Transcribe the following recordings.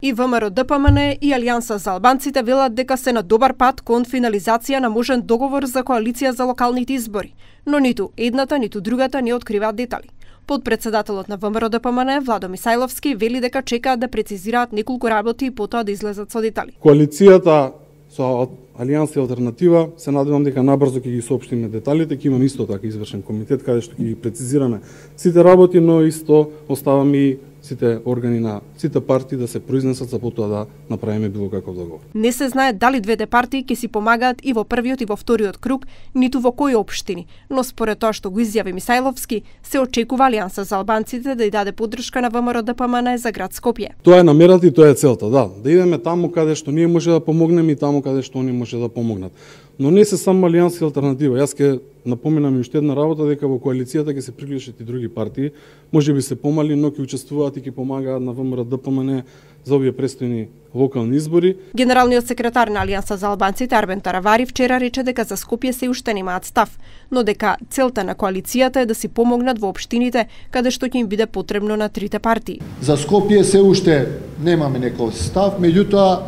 И ВМРО-ДПМН и Алијанса за албанците велат дека се на добар пат кон финализација на можен договор за коалиција за локалните избори, но ниту едната, ниту другата не откриваат детали. Подпредседателот на ВМРО-ДПМН Владо Мисајловски вели дека чекаат да прецизираат неколку работи и потоа да излезат со детали. Коалицијата со Алијанса и Алтернатива се надевам дека набрзо ќе ги соопштиме деталите, ќе имаме исто така извршен комитет каде што ќе ги прецизираме сите работи, но исто оставаме и сите органи на сите партии да се произнесат за потоа да направиме било каков договор. Не се знае дали двете партии ќе си помагаат и во првиот и во вториот круг, ниту во кои општини, но според тоа што го изјави Мисајловски, се очекува Алијанса за албанците да ја даде поддршка на ВМРО-ДПМН за град Скопје. Тоа е намерата и тоа е целта, да идеме таму каде што ние може да помогнеме и таму каде што они може да помогнат. Но не се само Алијанса и Алтернатива. Јас ќе напоменам и уште една работа, дека во коалицијата ќе се приклучат и други партии, можеби се помали, но ќе учествуваат и ќе помагаат на ВМРО-ДПМН за овие престојни локални избори. Генералниот секретар на Алијанса за албанците Арбен Таравари вчера рече дека за Скопје се уште немаат став, но дека целта на коалицијата е да си помогнат во општините каде што ќе им биде потребно на трите партии. За Скопје се уште немаме некој став, меѓутоа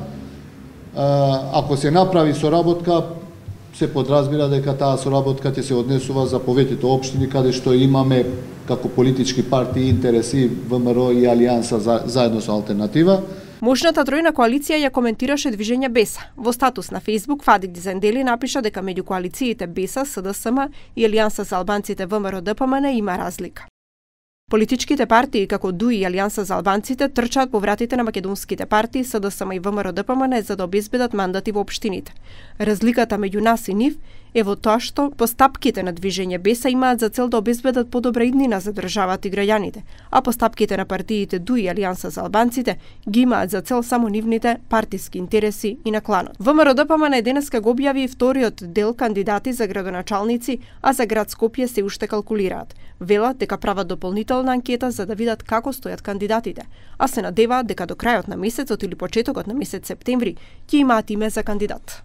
ако се направи соработка, се подразбира дека таа соработка ќе се однесува за повеќето општини каде што имаме како политички партии интереси ВМРО и Алијанса заедно со Алтернатива. Можната тројна коалиција ја коментираше движење Беса. Во статус на Facebook Фадик Дизендели напиша дека меѓу коалициите Беса, СДСМ и Алијанса за албанците ВМРО-ДПМН има разлика. Политичките партии како ДУИ и Алијанса за албанците трчаат по вратите на македонските партии СДСМ и ВМРО-ДПМН за да обезбедат мандати во општините. Разликата меѓу нас и нив е во тоа што постапките на движење Беса имаат за цел да обезбедат подобра иднина за државата и граѓаните, а постапките на партиите ДУИ и Алијанса за албанците ги имаат за цел само нивните партиски интереси и на кланот. ВМРО-ДПМН денеска го објави вториот дел кандидати за градоначалници, а за град Скопје се уште калкулираат. Велат дека прават дополнителна анкета за да видат како стојат кандидатите, а се надеваат дека до крајот на месецот или почетокот на месец септември ќе имаат име за кандидат.